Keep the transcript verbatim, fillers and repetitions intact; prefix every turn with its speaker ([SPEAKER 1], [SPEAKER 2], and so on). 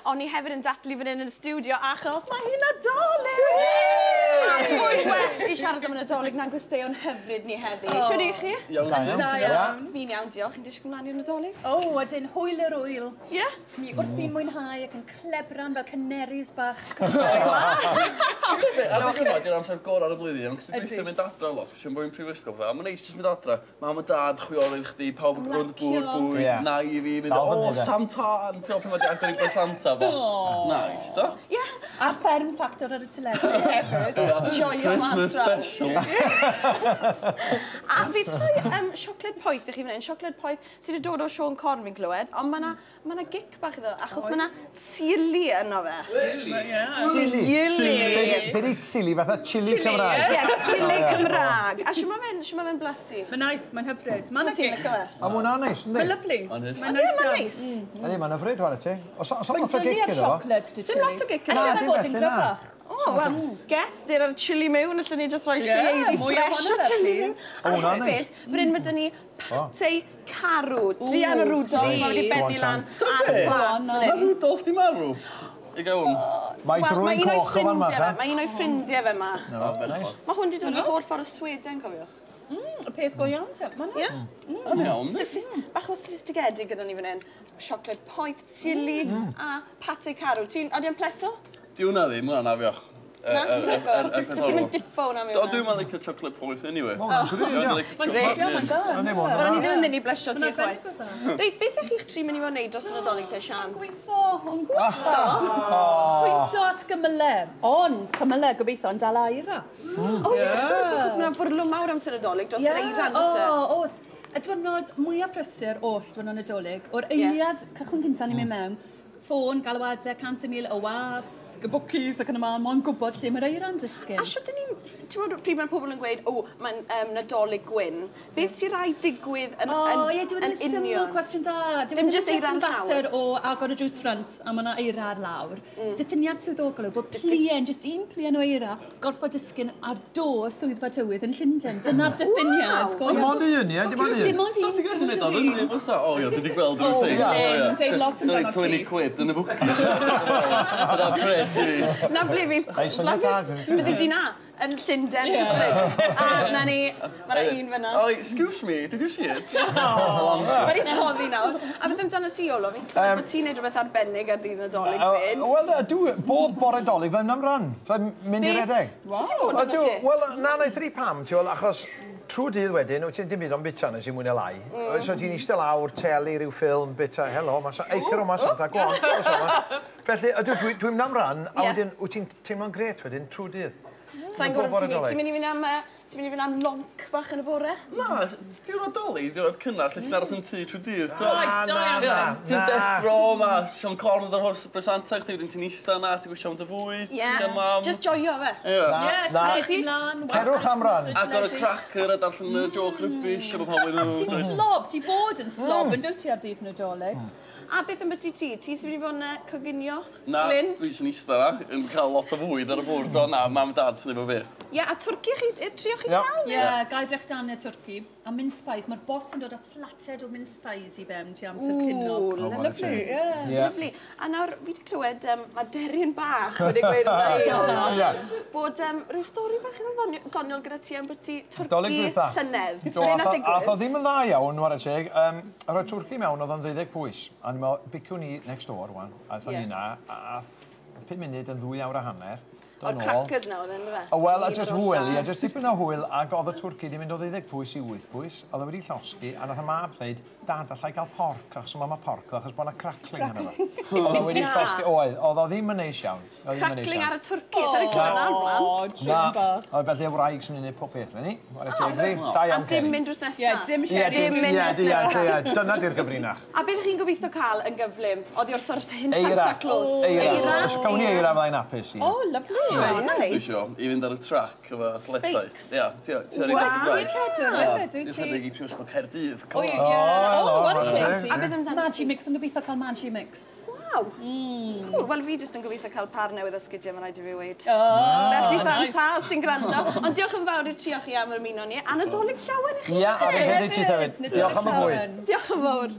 [SPEAKER 1] Ond ni hefyd yn dathlu fan hyn yn y studio achos mae hi'n Nadolig! A pwy well i siarad am y Nadolig na'n gwesteion hyfryd ni heddi. Oh. Shwd i chi?
[SPEAKER 2] Iawn.
[SPEAKER 3] Da iawn.
[SPEAKER 4] Da iawn.
[SPEAKER 1] Fi'n iawn, diolch. Chi'n disgwyl mlaen i'r Nadolig?
[SPEAKER 4] O, ydyn, hwyl yr wyl.
[SPEAKER 1] Ie? Yeah?
[SPEAKER 4] Mi wrthi'n mwynhau ac yn clebran fel canaries bach.
[SPEAKER 2] Adeg yma, di'r amser gorau ar y blwyddyn, ond dwi'n gweithio mynd adra lot, cos dwi'n byw yn prifysgol fe, a mae'n neis jyst mynd adra. Mam a dad, chwiorydd chdi, pawb yn rownd y bwrdd bwyd,
[SPEAKER 3] Ie.
[SPEAKER 2] nai i fi, mynd,
[SPEAKER 3] Dal
[SPEAKER 2] o,
[SPEAKER 3] fyny, de.
[SPEAKER 2] Santa, yn ti'n gwybod pryd mae di agor i bod Santa fo. Nice, do?
[SPEAKER 1] Ie.
[SPEAKER 4] A'r fferm ffactor ar y teledu hefyd.
[SPEAKER 1] Joio mas
[SPEAKER 2] Christmas
[SPEAKER 1] draw.
[SPEAKER 2] special.
[SPEAKER 1] A fi wedi rhoi um, siocled poeth i chi fan hyn. Siocled poeth sydd wedi dod o Siôn Corn fi'n clywed, ond mae yna ma 'na gic bach iddo, achos mae yna tsili yno fe.
[SPEAKER 3] Tsili.
[SPEAKER 1] Tsili.
[SPEAKER 3] Be di tsili? Fatha chili Cymraeg.
[SPEAKER 1] Ie, tsili Cymraeg. A shwt mae fe'n shwt ma fe'n blasu?
[SPEAKER 4] Mae'n nice, mae'n hyfryd. Mae'n
[SPEAKER 1] Ti'n licio fe?
[SPEAKER 3] A ma' hwnna'n neis, yndi?
[SPEAKER 4] Mae'n lovely.
[SPEAKER 2] Mae'n hyfryd.
[SPEAKER 4] Mae'n
[SPEAKER 1] Ydy,
[SPEAKER 4] nice
[SPEAKER 1] mae'n
[SPEAKER 4] iawn.
[SPEAKER 1] neis.
[SPEAKER 3] Yndi, mae'n hyfryd, whare ti. Oes oes
[SPEAKER 4] Mae'n
[SPEAKER 3] lot o
[SPEAKER 4] dynnu
[SPEAKER 3] gic
[SPEAKER 4] ar
[SPEAKER 3] iddo fo?
[SPEAKER 4] siocled, dy
[SPEAKER 1] Dim lot o gic
[SPEAKER 4] Alla
[SPEAKER 1] iddo
[SPEAKER 3] Na,
[SPEAKER 4] fe
[SPEAKER 3] dim
[SPEAKER 4] fod yn
[SPEAKER 3] felly, na.
[SPEAKER 4] gryfach.
[SPEAKER 1] O, wel, geth, dyr ar chili mewn, allwn ni just rhoi
[SPEAKER 4] Ie,
[SPEAKER 1] lleidi
[SPEAKER 4] mwy
[SPEAKER 1] ffresh
[SPEAKER 4] ohono
[SPEAKER 1] o
[SPEAKER 4] fe,
[SPEAKER 1] chili mewn.
[SPEAKER 4] please.
[SPEAKER 1] A
[SPEAKER 3] O, hwnna'n
[SPEAKER 1] hefyd, fan hyn mae dyn ni pate carw, Drian o Rudolph, mae wedi
[SPEAKER 3] Go on,
[SPEAKER 1] bennu lan
[SPEAKER 2] Sian.
[SPEAKER 1] ar y
[SPEAKER 2] Be?
[SPEAKER 1] plat fan
[SPEAKER 2] Mae
[SPEAKER 1] hyn.
[SPEAKER 2] Rudolph di marw. I gael hwn.
[SPEAKER 3] Mae
[SPEAKER 1] Wel,
[SPEAKER 3] drwy'n
[SPEAKER 1] mae un o'i
[SPEAKER 3] coch o fan
[SPEAKER 1] ffrindiau fe,
[SPEAKER 3] ma.
[SPEAKER 1] mae un o'i ffrindiau fe ma.
[SPEAKER 3] Nice.
[SPEAKER 1] Mae hwn wedi dod o'r holl ffordd o Sweden, cofiwch.
[SPEAKER 4] Y peth go iawn te. Mae'n
[SPEAKER 1] Ie?
[SPEAKER 2] Yn iawn.
[SPEAKER 1] Sophis- Bach o sophistigedig gyda ni fan hyn. Siocled poeth, chili a pate carw. Ti'n, ydy o'n pleso?
[SPEAKER 2] Di hwnna ddim, hwnna'n afiach.
[SPEAKER 1] Na, ti'n licio? So ti'n mynd dipo hwnna mewn?
[SPEAKER 2] Do, dwi'n mynd licio chocolate poeth anyway.
[SPEAKER 3] Ma' hwnna'n green,
[SPEAKER 2] Dwi'n
[SPEAKER 3] ia.
[SPEAKER 2] licio
[SPEAKER 4] Mae'n
[SPEAKER 2] chocolate
[SPEAKER 4] grêt, mae'n da.
[SPEAKER 3] Yndi, ma' hwnna'n
[SPEAKER 1] Wel, ni
[SPEAKER 3] dda.
[SPEAKER 1] ddim yn mynd i blesio ti
[SPEAKER 4] Mae'n
[SPEAKER 1] chwaith.
[SPEAKER 4] arbennig o dda.
[SPEAKER 1] Reit, beth ych chi'ch tri mynd i fod yn neud dros y Nadolig te, Sian?
[SPEAKER 4] Gweithio, yn gweithio. Pwyntio at gymylau. Ond cymylau gobeithio yn dal eira.
[SPEAKER 1] O, ie, wrth gwrs, achos mae'n fwrlwm mawr amser Nadolig dros yr eira, nos e?
[SPEAKER 4] O, oes. Y diwrnod mwyaf prysur oll diwrnod Nadolig, o'r eiliad cychwyn cyntaf ni'n mynd mewn, ffôn, galwadau, cant y mil o wasg, y bwcis ac yn y man, mo'n gwybod lle mae'r eira'n disgyn.
[SPEAKER 1] A shwt dyn ni'n... Ti'n gwybod pryd mae'r pobl yn gweud, o, mae'n um, Nadolig gwyn. Beth sy'n rhaid digwydd yn,
[SPEAKER 4] O,
[SPEAKER 1] yn,
[SPEAKER 4] ie, dwi'n
[SPEAKER 1] yn
[SPEAKER 4] yn syml
[SPEAKER 1] union?
[SPEAKER 4] Cwestiwn da. Dyw e
[SPEAKER 1] Dim
[SPEAKER 4] ddim
[SPEAKER 1] jyst
[SPEAKER 4] jyst
[SPEAKER 1] eira'n
[SPEAKER 4] yn fater o agor y drws ffrynt a mae yna eira ar lawr. Mm. Diffiniad swyddogol yw bod pluen, jyst un pluen o eira, gorfod disgyn ar do swyddfa tywydd yn Llundain. Dyna'r diffiniad.
[SPEAKER 1] Waw.
[SPEAKER 4] Go
[SPEAKER 3] Dim
[SPEAKER 4] iawn.
[SPEAKER 3] ond un, ie? Dim ond un.
[SPEAKER 4] Dim ond un.
[SPEAKER 2] Ti'n gallu
[SPEAKER 4] dim
[SPEAKER 2] neud o
[SPEAKER 4] ond un.
[SPEAKER 2] fyny, fysa? O, ie, dwi wedi gweld
[SPEAKER 4] O,
[SPEAKER 2] rhyw thing.
[SPEAKER 4] Glyn, deud lot amdano ti.
[SPEAKER 2] twenty quid yn y bwcis. Dyna pres i fi.
[SPEAKER 1] Na ble fi...
[SPEAKER 3] Ei, syniad da, dwi'n-
[SPEAKER 1] Bydde di na, yn Llundain, just fel A na ni, mae'na un fyna.
[SPEAKER 2] Oh, excuse me, did you see it?
[SPEAKER 1] Mae wedi toddi nawr. A beth amdano ti, Iolo? Fi'n clywed bod ti'n neud rhywbeth arbennig ar ddydd Nadolig fyd.
[SPEAKER 3] Wel, dwi, bob bore Dolig, fe'n am ran. Fe'n mynd i
[SPEAKER 1] Be?
[SPEAKER 3] redeg.
[SPEAKER 1] Ti'n bod
[SPEAKER 3] Ydw,
[SPEAKER 1] efo ti?
[SPEAKER 3] wel, na, na i thri pam, ti'n gweld, achos trwy dydd wedyn, wyt ti'n dim byd ond bita nes i mwy na lai. Mm. So ti'n eistedd lawr, teli, rhyw ffilm, bita, helo, ma sa, acre o ma Santa, go on, go on. Felly, ydw, dwi, dwi'n mynd am ran, a
[SPEAKER 1] Ie.
[SPEAKER 3] wedyn, wyt ti'n teimlo'n gret wedyn, trwy dydd.
[SPEAKER 1] Sa'n
[SPEAKER 3] Bob
[SPEAKER 1] gwybod
[SPEAKER 3] bore
[SPEAKER 1] ti'n
[SPEAKER 3] Dolig.
[SPEAKER 1] Ti'n mynd i fynd am, yy, ti'n mynd i fynd am lonc bach yn y bore?
[SPEAKER 2] Na, diwrnod Dolig, diwrnod cynnas, lle ti'n aros yn tŷ trwy dydd. t'mo'?
[SPEAKER 4] Right,
[SPEAKER 3] Na,
[SPEAKER 4] da
[SPEAKER 3] na,
[SPEAKER 4] iawn.
[SPEAKER 2] Ie,
[SPEAKER 3] na,
[SPEAKER 2] ti'n
[SPEAKER 3] na.
[SPEAKER 2] deffro, ma Siôn Corn yn dod o'r bresanta chdi, wedyn ti'n ista na, ti'n gwisio am dy fwyd,
[SPEAKER 1] Ie.
[SPEAKER 2] ti'n gael mam.
[SPEAKER 1] Just joio fe.
[SPEAKER 2] Ie.
[SPEAKER 3] Na,
[SPEAKER 4] Ie,
[SPEAKER 3] na.
[SPEAKER 4] ti'n mynd lan,
[SPEAKER 3] Cerwch am ran.
[SPEAKER 2] Agor y cracker a darllen y joke rubbish efo pawb yn
[SPEAKER 4] Ti'n slob, ti bod yn slob yn dwyt ti ar ddydd Nadolig.
[SPEAKER 1] A beth am byti ti? Ti sy'n mynd i fod yn uh, coginio?
[SPEAKER 2] Na,
[SPEAKER 1] Glyn?
[SPEAKER 2] dwi sy'n ista na, yn cael lot o fwyd ar y bwrdd, o na, mam a dad sy'n efo fyth.
[SPEAKER 1] Ie, a twrci chi, yy, trio chi
[SPEAKER 3] Ie.
[SPEAKER 1] gael?
[SPEAKER 4] Ie, gai brechdanau twrci a mince pies. Mae'r boss yn dod â flated o mince pies i fewn ti amser cinio.
[SPEAKER 1] Ooh,
[SPEAKER 3] O,
[SPEAKER 1] lovely.
[SPEAKER 4] Ie.
[SPEAKER 3] Ie.
[SPEAKER 1] Lovely. A nawr, fi wedi clywed, um, mae Deryn bach wedi gweud wrtha i Iolo,
[SPEAKER 3] Ie.
[SPEAKER 1] bod um, rhyw stori bach iddo ddoniol, doniol gyda ti am byti
[SPEAKER 3] Dolig
[SPEAKER 1] twrci
[SPEAKER 3] dwytha.
[SPEAKER 1] llynedd.
[SPEAKER 3] Do,
[SPEAKER 1] Be
[SPEAKER 3] ath
[SPEAKER 1] nath
[SPEAKER 3] o- ath o
[SPEAKER 1] ddigwydd?
[SPEAKER 3] ddim yn dda iawn, whare teg. Um, rhoi twrci mewn, oedd o'n ddeuddeg pwys. A ni'n meddwl, biciwn ni next door, wan. A aethon
[SPEAKER 1] Ie.
[SPEAKER 3] ni na, a ath pum munud yn ddwy awr a hanner. Do
[SPEAKER 1] O'r
[SPEAKER 3] nôl.
[SPEAKER 1] crackers na oedd yn, fe?
[SPEAKER 3] O, wel, a just hwyl, ie, just dipyn o hwyl, ac oedd y twrci di mynd o ddeuddeg pwys i wyth pwys, oedd o wedi llosgi, a nath y mab ddeud, "Dad, allai gael porc, achos mae ma porc, achos bod yna crackling yna fo." Oedd o wedi
[SPEAKER 1] Na.
[SPEAKER 3] llosgi, oedd, oedd o ddim yn neis iawn. Oedd o ddim yn neis
[SPEAKER 1] Crackling
[SPEAKER 3] iawn.
[SPEAKER 1] ar y twrci, sa'n ei clywed nawr blaen.
[SPEAKER 4] O,
[SPEAKER 3] Na,
[SPEAKER 4] trin bach.
[SPEAKER 3] oedd felly y wraig sy'n mynd i wneud pob peth, ni. Whare teg iddi. Da
[SPEAKER 1] A
[SPEAKER 3] iawn,
[SPEAKER 1] dim
[SPEAKER 3] Kerry.
[SPEAKER 1] mynd drws nesa.
[SPEAKER 4] Ie, dim
[SPEAKER 3] Ie,
[SPEAKER 4] sherry.
[SPEAKER 1] Dim
[SPEAKER 3] dim-
[SPEAKER 1] mynd
[SPEAKER 3] ie,
[SPEAKER 1] drws
[SPEAKER 3] ie,
[SPEAKER 1] nesa.
[SPEAKER 3] ie, dyna di'r gyfrinach.
[SPEAKER 1] A beth ych chi'n gobeithio cael yn gyflym? Oddi wrth o'r hen
[SPEAKER 3] Eira.
[SPEAKER 1] Santa Claus?
[SPEAKER 3] Eira. Os gawn ni eira fyddai'n hapus i.
[SPEAKER 4] O, lovely.
[SPEAKER 1] Oh,
[SPEAKER 2] Dwi
[SPEAKER 1] nice.
[SPEAKER 2] isio i fynd ar y track efo athletau.
[SPEAKER 1] Spikes.
[SPEAKER 2] Ie, ti ti ar
[SPEAKER 4] Wow. Ti'n rhedwr hefyd, wyt
[SPEAKER 2] Dwi'n
[SPEAKER 4] ti?
[SPEAKER 2] rhedeg i Prifysgol Caerdydd.
[SPEAKER 4] O,
[SPEAKER 2] Come
[SPEAKER 4] ie.
[SPEAKER 2] on.
[SPEAKER 4] O,
[SPEAKER 3] helo,
[SPEAKER 4] what a
[SPEAKER 3] whare
[SPEAKER 4] teg ti.
[SPEAKER 3] teg.
[SPEAKER 1] A beth amdano
[SPEAKER 4] Magic Mix, yn gobeithio cael Magic Mix.
[SPEAKER 1] Waw. Cool. Wel, fi jyst yn gobeithio cael par newydd o sgidiau, mae'n rhaid i fi weud.
[SPEAKER 4] Oh,
[SPEAKER 1] Felly, Santa, os ti'n gwrando. Ond diolch yn fawr i'r tri o chi am yr ymuno ni. A Nadolig llawen i chi.
[SPEAKER 3] Ia, a fi hefyd ti hefyd.
[SPEAKER 4] Nadolig
[SPEAKER 3] Diolch am y bwyd.
[SPEAKER 4] llawen.
[SPEAKER 1] Diolch yn fawr.